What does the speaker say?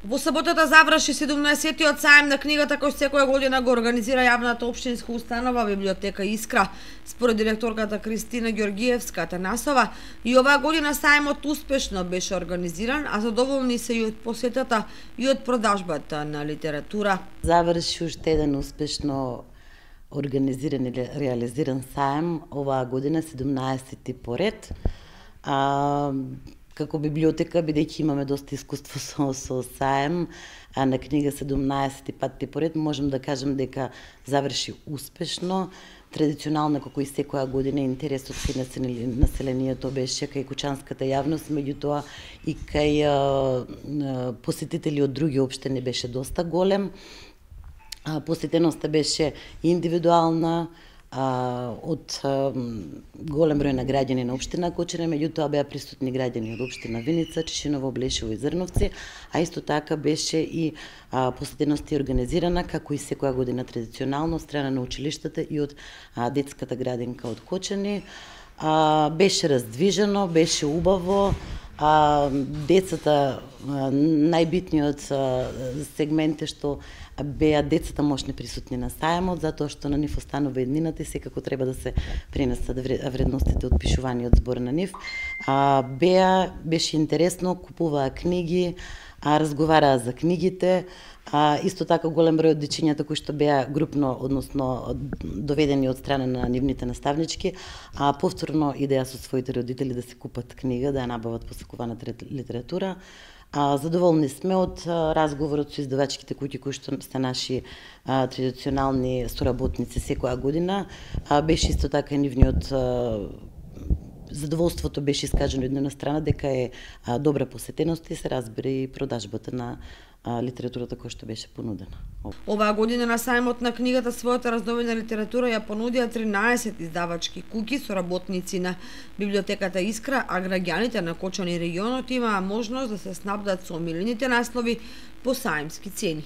Во саботата заврши 17-тиот сајм на книгата кој секоја година го организира јавната општинска установа библиотека Искра. Според директорката Кристина Ѓоргиевска-Атанасова, и оваа година сајмот успешно беше организиран, а задоволни се и од посетата и од продажбата на литература. Заврши уште еден успешно организиран и реализиран сајм оваа година, 17-ти поред. Како библиотека, бидејќи имаме доста искуство со сајм на книга 17 пати поред, можем да кажем дека заврши успешно. Традиционално, како и секоја година, интересот кај населението беше кај кучанската јавност, меѓутоа и кај посетители од други општини беше доста голем. Посетеноста беше индивидуална, од голем број на граѓани на општина Кочани, меѓутоа беа присутни граѓани од општина Виница, Чешиново, Блешево и Зрновци, а исто така беше и посетеност организирана, како и секоја година традиционално, од страна на училиштата и од детската градинка од Кочани. Беше раздвижено, беше убаво, децата, најбитниот сегмент е што беа децата мощни присутни на сајмот, затоа што на нив останува еднината и секако треба да се пренесат вредностите од пишуваниот збор на нив. Беше интересно, купуваа книги, разговараа за книгите, исто така голем број од дечињата кои што беа групно, односно доведени од страна на нивните наставнички, повторно идеја со своите родители да се купат книга, да ја набават посекуваната литература. Задоволни сме од разговорот со издавачките куќи кои што се наши традиционални соработници секоја година. Беше исто така и нивниот задоволството беше искажено од една страна дека е добра посетеност и се разбира и продажбата на литературата која што беше понудена. Оваа година на сајмот на книгата својата раздобена литература ја понудија 13 издавачки куќи со работници на библиотеката Искра, а граѓаните на Кочани регионот имаа можност да се снабдат со омилените наслови по сајмски цени.